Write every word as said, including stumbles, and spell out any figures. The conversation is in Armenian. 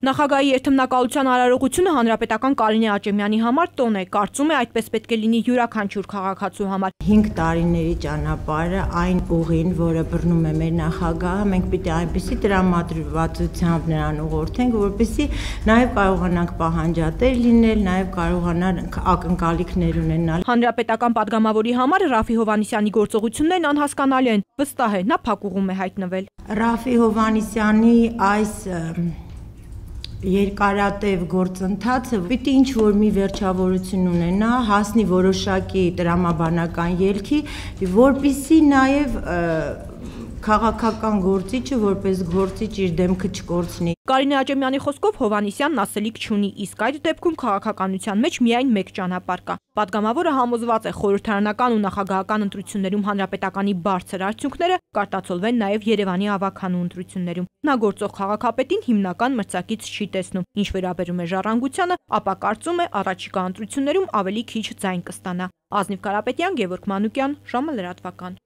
Նախագահի երթմնակալության արարողությունը հանրապետական Կարինե Աճեմյանի համար տոն է, կարծում է այդպես պետք է լինի յուրաքանչյուր քաղաքացու համար։ Հինգ տարիների ճանապարհը այն ուղին, որը բռնում է մեր նախագահը, մենք պիտի այնպիսի տրամադրվածությամբ նրան ուղղորդենք, որպեսզի նաև կարողանանք պահանջատեր լինել, նաև կարողանանք ակնկալիքներ ունենալ։ Հանրապետական падգամավորի համար Ռաֆի Հովհաննիսյանի գործողություններն անհասկանալի են, վստահ է, նա փակուղում է հայտնվել։ Ռաֆի Հովհաննիսյանի այս երկարատև գործընթացը պիտի ինչ-որ մի վերջավորություն ունենա, հասնի որոշակի տրամաբանական ելքի, որպեսզի նաև քաղաքական գործիչը որպես գործիչ իր դեմքը չկորցնի։ Կարինե Աճեմյանի խոսքով Հովհաննիսյանն ասելիք չունի, իսկ այդ դեպքում քաղաքականության մեջ միայն մեկ ճանապարհ կա։ Պատգամավորը համոզված է, խորհրդարանական ու նախագահական ընտրություններում հանրապետականի բարձր արդյունքները կարտացոլվեն նաև Երևանի ավագանու ընտրություններում։ Նա գործող քաղաքապետին հիմնական մրցակից չի տեսնում։ Ինչ վերաբերում է ժառանգությանը, ապա կարծում է առաջիկա ընտրություններում ավելի քիչ ձայն կստանա։ Ազնիվ Կարապետյան, Գևորգ Մանուկյան, ժամը լրատվական։